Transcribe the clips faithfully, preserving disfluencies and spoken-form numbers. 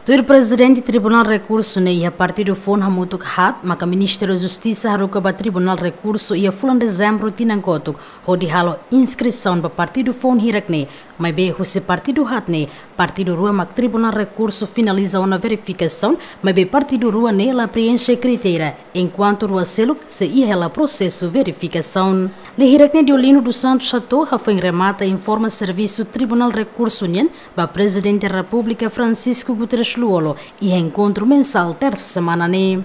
Tuir prezidente Tribunál Rekursu ne'e iha partidu foun hamutuk haat, maka Ministériu Justisa haruka ba Tribunál Rekursu iha fulan Dezembru tinan kotuk, hodi halo inskrisaun ba partidu foun hirak ne'e, maibé husi partidu haat ne'e, partidu rua mak Tribunál Rekursu finaliza ona verifikasaun, maibé partidu rua ne'e la preenxe kritéria, enkuantu rua seluk sei iha hela prosesu verifikasaun. Lei hirak ne'e Deolindo dos Santos hato'o hafoin remata informa servisu Tribunál Rekursu nian ba Prezidente Repúblika Francisco Guterres Lú-Olo iha enkontru mensál tersa semana ne'e.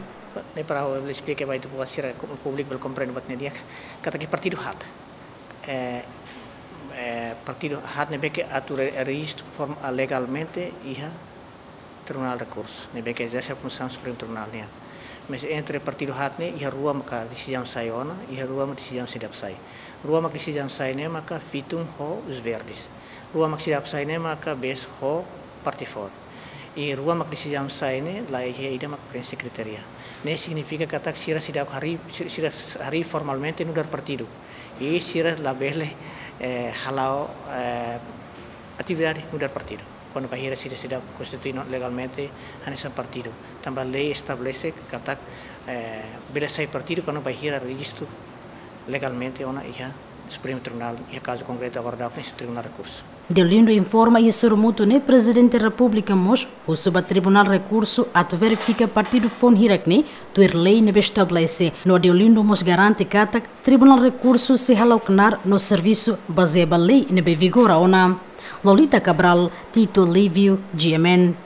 Ne'e para ha'u esplika ba ita-boot sira, públiku bele komprende buat ne'e di'ak, katak partidu haat. Eh, eh, partidu haat ne'ebé ke atu re-, rejistu form-, ah, legalmente iha Tribunál Rekursu, ne'ebé ke ezerse funsaun Supremu Tribunál nian. Mas entre partidu haat ne'e, iha rua maka desizaun sai ona, iha rua maka desizaun seidauk sai. Rua mak desizaun sai ne'e maka Fitun ho Os Verdes. Rua mak seidauk sai ne'e maka Bes ho Partifor. I rua mak desizaun sai ne'e, la iha ida mak preenxe kritéria. Ne'e signifika katak sira seidauk harii, si-, sira harii formalmente nu'udar partidu. I sira labele, eh, hala'o, eh, atividade nu'udar partidu. Kuandu bainhira sira seidauk konstitui no legalmente hanesan partidu. Tanba lei estabelese katak, eh, bele sai partidu kuandu bainhira rejistu legalmente ona iha Supremu Tribunál, iha kazu konkretu agora daudaun ne'e Tribunál Rekursu. Deolindo informa iha sorumutu ne'e Prezidente Repúblika mós husu ba Tribunál Rekursu atu verifika partidu foun hirak ne'e tuir lei ne'ebé estabelese, no Deolindo mós garante katak Tribunál Rekursu sei hala'o knaar no servisu bazeia ba lei ne'ebé vigora ona. Lolita Cabral, Tito Livio, G M N.